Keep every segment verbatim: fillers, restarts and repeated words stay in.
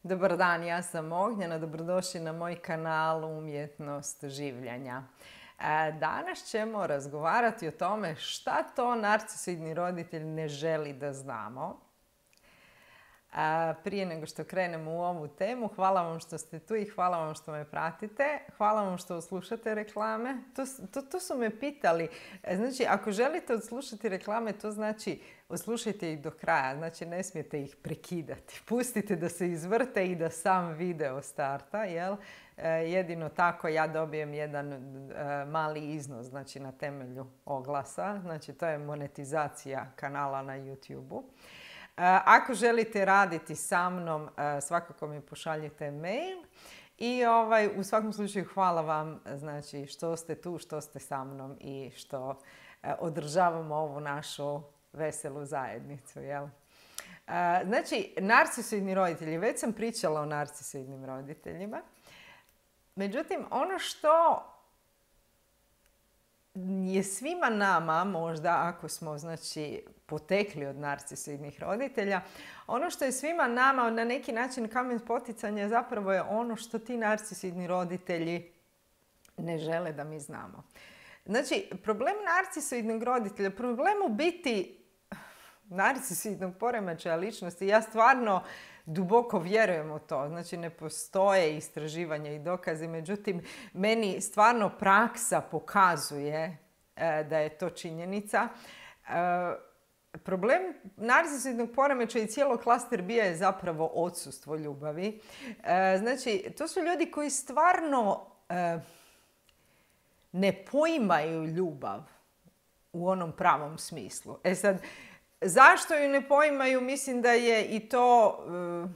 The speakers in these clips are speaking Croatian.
Dobar dan, ja sam Ognjena, dobrodošli na moj kanal Umjetnost življenja. Danas ćemo razgovarati o tome šta to narcisoidni roditelj ne želi da znamo. Prije nego što krenemo u ovu temu, hvala vam što ste tu i hvala vam što me pratite. Hvala vam što odslušate reklame. To, to, to su me pitali. Znači, ako želite odslušati reklame, to znači odslušajte ih do kraja. Znači, ne smijete ih prekidati. Pustite da se izvrte i da sam video starta, jel? Jedino tako ja dobijem jedan mali iznos, znači na temelju oglasa. Znači, to je monetizacija kanala na YouTube-u. Ako želite raditi sa mnom, svakako mi pošaljite mail. I ovaj, u svakom slučaju hvala vam, znači, što ste tu, što ste sa mnom i što održavamo ovu našu veselu zajednicu. Jel? Znači, narcisoidni roditelji, već sam pričala o narcisoidnim roditeljima. Međutim, ono što je svima nama, možda ako smo znači, potekli od narcisoidnih roditelja, ono što je svima nama na neki način kamen spoticanja zapravo je ono što ti narcisoidni roditelji ne žele da mi znamo. Znači, problem narcisoidnog roditelja, problem u biti narcisoidnog poremećaja ličnosti, ja stvarno duboko vjerujem u to. Znači, ne postoje istraživanja i dokazi, međutim, meni stvarno praksa pokazuje e, da je to činjenica. E, problem narcisoidnog poremećaja i cijelog klaster bija je zapravo odsustvo ljubavi. E, znači, to su ljudi koji stvarno e, ne poimaju ljubav u onom pravom smislu. E sad, zašto ju ne poimaju? Mislim da je i to, uh,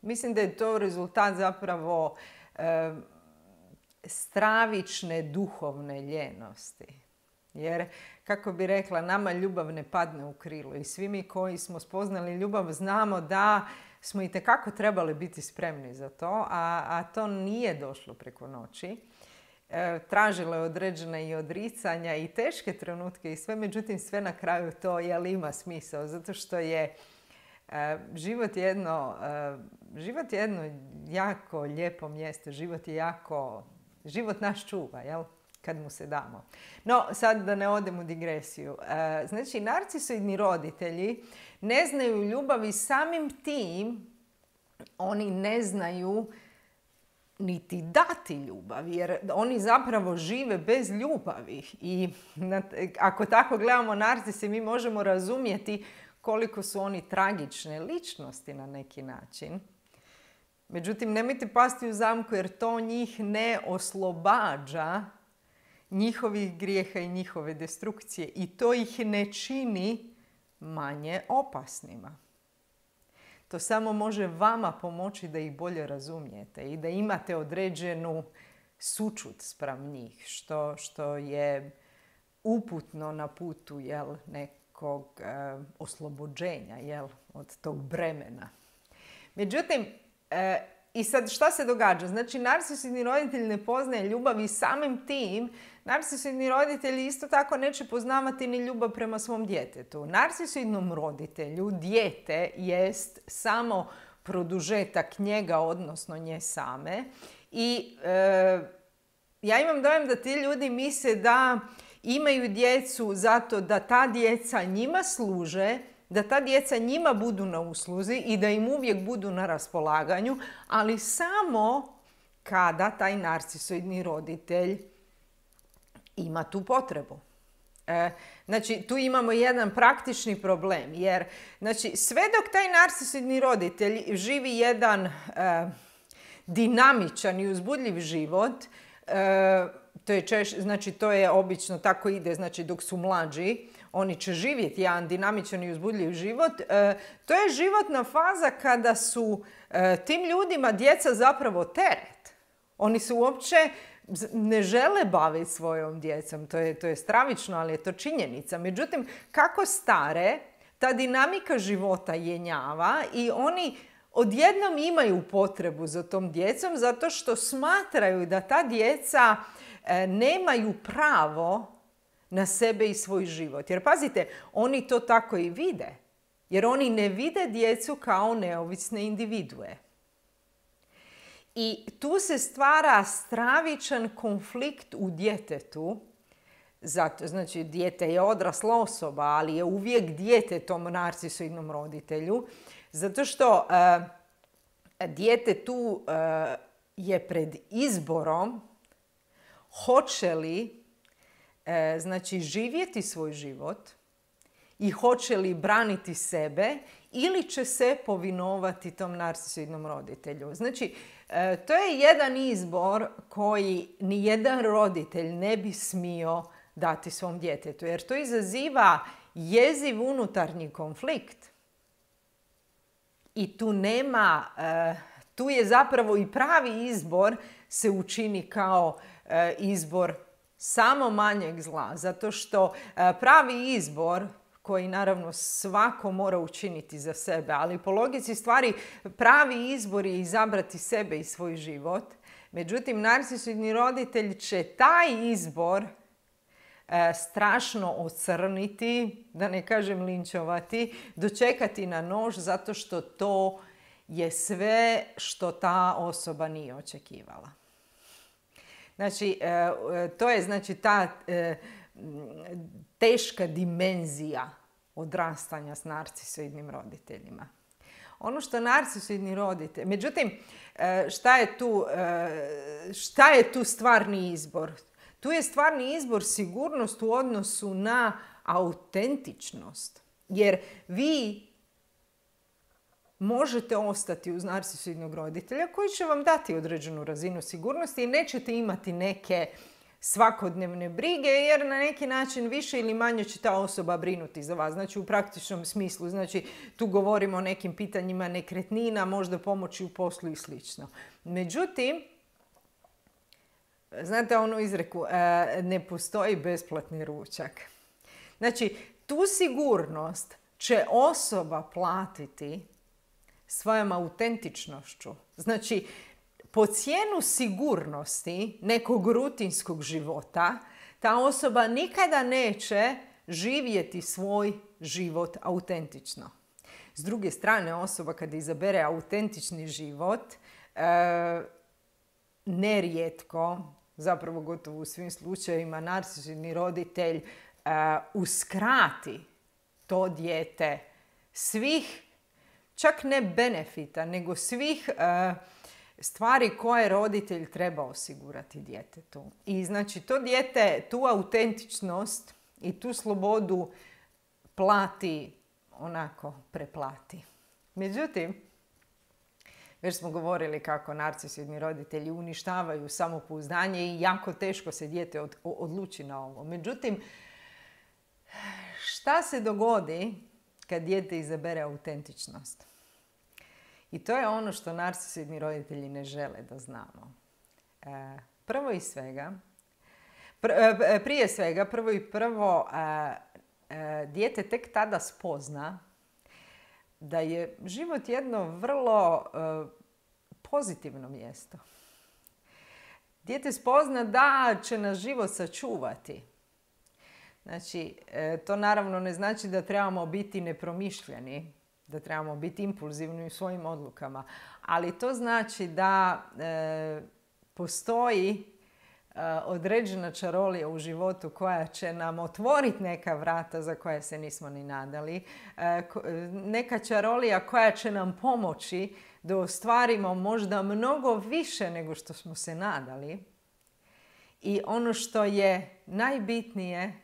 mislim da je to rezultat zapravo uh, stravične duhovne ljenosti. Jer, kako bi rekla, nama ljubav ne padne u krilo i svi mi koji smo spoznali ljubav znamo da smo itekako trebali biti spremni za to, a, a to nije došlo preko noći. Tražilo je određena i odricanja i teške trenutke i sve, međutim sve na kraju to jel ima smisao, zato što je uh, život jedno, uh, život je jedno jako lijepo mjesto, život je jako, život nas čuva, jel? Kad mu se damo. No, sad da ne odem u digresiju. Uh, znači, narcisoidni roditelji ne znaju ljubav i samim tim oni ne znaju niti dati ljubav, jer oni zapravo žive bez ljubavi. I ako tako gledamo narcise, mi možemo razumjeti koliko su oni tragične ličnosti na neki način. Međutim, nemojte pasti u zamku jer to njih ne oslobađa njihovih grijeha i njihove destrukcije. I to ih ne čini manje opasnima. To samo može vama pomoći da ih bolje razumijete i da imate određenu sućut spram njih, što, što je uputno na putu jel, nekog e, oslobođenja jel, od tog bremena. Međutim, e, i sad šta se događa? Znači, narcisoidni roditelj ne poznaje ljubav i samim tim narcisoidni roditelji isto tako neće poznavati ni ljubav prema svom djetetu. Narcisoidnom roditelju dijete jest samo produžetak njega, odnosno nje same. I e, ja imam dojam da ti ljudi misle da imaju djecu zato da ta djeca njima služe, da ta djeca njima budu na usluzi i da im uvijek budu na raspolaganju, ali samo kada taj narcisoidni roditelj ima tu potrebu. E, znači, tu imamo jedan praktični problem, jer znači, sve dok taj narcisoidni roditelj živi jedan e, dinamičan i uzbudljiv život, e, to je češ, znači, to je obično tako ide, znači, dok su mlađi, oni će živjeti jedan dinamičan i uzbudljiv život. E, to je životna faza kada su e, tim ljudima djeca zapravo teret. Oni se uopće ne žele baviti svojom djecom. To je, to je stravično, ali je to činjenica. Međutim, kako stare, ta dinamika života jenjava i oni odjednom imaju potrebu za tom djecom zato što smatraju da ta djeca e, nemaju pravo na sebe i svoj život. Jer pazite, oni to tako i vide. Jer oni ne vide djecu kao neovisne individue. I tu se stvara stravičan konflikt u djetetu. Zato, znači, dijete je odrasla osoba, ali je uvijek dijete tom narcisoidnom roditelju. Zato što uh, dijete tu uh, je pred izborom hoće li uh, znači, živjeti svoj život i hoće li braniti sebe ili će se povinovati tom narcisoidnom roditelju. Znači, uh, to je jedan izbor koji nijedan roditelj ne bi smio dati svom djetetu, jer to izaziva jeziv unutarnji konflikt. I tu nema, tu je zapravo i pravi izbor se učini kao izbor samo manjeg zla, zato što pravi izbor, koji naravno svako mora učiniti za sebe, ali po logici stvari pravi izbor je izabrati sebe i svoj život. Međutim, narcisoidni roditelj će taj izbor strašno ocrniti, da ne kažem linčovati, dočekati na nož zato što to je sve što ta osoba nije očekivala. Znači, to je znači ta teška dimenzija odrastanja s narcisoidnim roditeljima. Ono što narcisoidni roditelj... Međutim, šta je tu, šta je tu stvarni izbor? Tu je stvarni izbor sigurnost u odnosu na autentičnost. Jer vi možete ostati uz narcisoidnog roditelja koji će vam dati određenu razinu sigurnosti i nećete imati neke svakodnevne brige, jer na neki način više ili manje će ta osoba brinuti za vas. Znači, u praktičnom smislu. Znači, tu govorimo o nekim pitanjima nekretnina, možda pomoći u poslu i slično. Međutim, znate onu izreku, ne postoji besplatni ručak. Znači, tu sigurnost će osoba platiti svojom autentičnošću. Znači, po cijenu sigurnosti nekog rutinskog života, ta osoba nikada neće živjeti svoj život autentično. S druge strane, osoba kada izabere autentični život, nerijetko, zapravo gotovo u svim slučajevima, narcisoidni roditelj uh, uskrati to dijete svih, čak ne benefita, nego svih uh, stvari koje roditelj treba osigurati djetetu. I znači to dijete tu autentičnost i tu slobodu plati, onako preplati. Međutim, već smo govorili kako narcisoidni roditelji uništavaju samopouzdanje i jako teško se dijete od, odluči na ovo. Međutim, šta se dogodi kad dijete izabere autentičnost? I to je ono što narcisoidni roditelji ne žele da znamo. E, prvo i svega, pr, e, prije svega, prvo i prvo, e, e, dijete tek tada spozna da je život jedno vrlo uh, pozitivno mjesto. Dijete spozna da će nas život sačuvati. Znači, e, to naravno ne znači da trebamo biti nepromišljeni, da trebamo biti impulzivni u svojim odlukama, ali to znači da e, postoji određena čarolija u životu koja će nam otvoriti neka vrata za koje se nismo ni nadali. Neka čarolija koja će nam pomoći da ostvarimo možda mnogo više nego što smo se nadali. I ono što je najbitnije,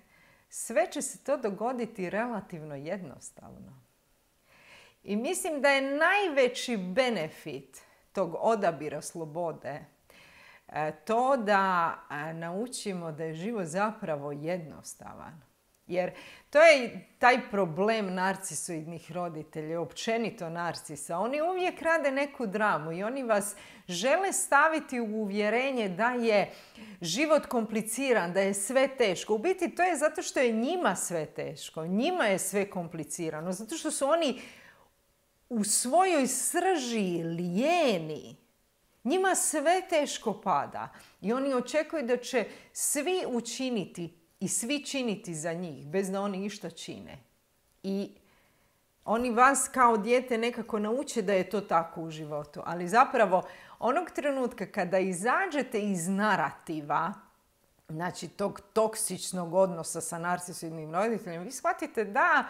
sve će se to dogoditi relativno jednostavno. I mislim da je najveći benefit tog odabira slobode to da naučimo da je život zapravo jednostavan. Jer to je taj problem narcisoidnih roditelja, općenito narcisa. Oni uvijek rade neku dramu i oni vas žele staviti u uvjerenje da je život kompliciran, da je sve teško. U biti to je zato što je njima sve teško, njima je sve komplicirano, zato što su oni u svojoj srži lijeni. Njima sve teško pada i oni očekuju da će svi učiniti i svi činiti za njih bez da oni išta čine. I Oni vas kao dijete nekako nauče da je to tako u životu. Ali zapravo onog trenutka kada izađete iz narativa, znači tog toksičnog odnosa sa narcisivnim roditeljem, vi shvatite da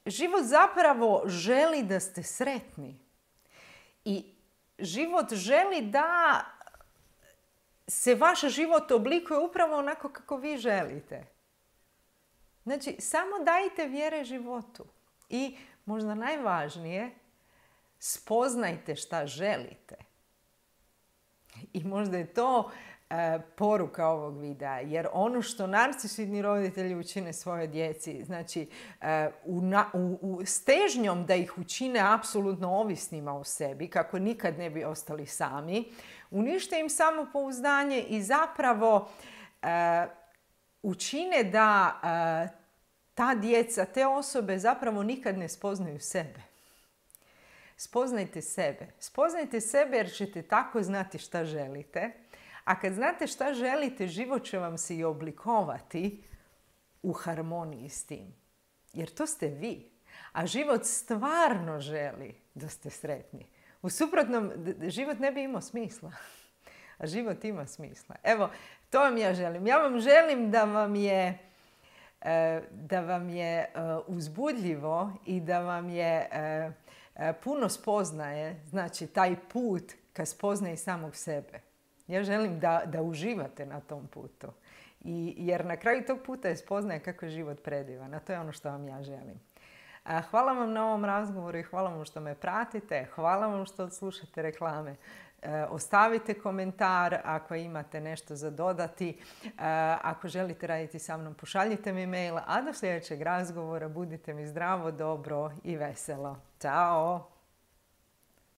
život zapravo želi da ste sretni. I život želi da se vaš život oblikuje upravo onako kako vi želite. Znači, samo dajte vjere životu. I možda najvažnije, spoznajte šta želite. I možda je to e, poruka ovog videa. Jer ono što narcisivni roditelji učine svoje djeci, znači e, u, na, u, u stežnjom da ih učine apsolutno ovisnima o sebi, kako nikad ne bi ostali sami, unište im samopouzdanje i zapravo e, učine da e, ta djeca, te osobe zapravo nikad ne spoznaju sebe. Spoznajte sebe. Spoznajte sebe jer ćete tako znati šta želite. A kad znate šta želite, život će vam se i oblikovati u harmoniji s tim. Jer to ste vi. A život stvarno želi da ste sretni. U suprotnom, život ne bi imao smisla. A život ima smisla. Evo, to vam ja želim. Ja vam želim da vam je da vam je uzbudljivo i da vam je puno spoznaje, znači taj put ka spoznaji samog sebe. Ja želim da, da uživate na tom putu. I, jer na kraju tog puta je spoznaje kako je život predivan. A to je ono što vam ja želim. Hvala vam na ovom razgovoru i hvala vam što me pratite. Hvala vam što odslušate reklame. Ostavite komentar ako imate nešto za dodati. Ako želite raditi sa mnom, pošaljite mi mail. A do sljedećeg razgovora budite mi zdravo, dobro i veselo. Ćao!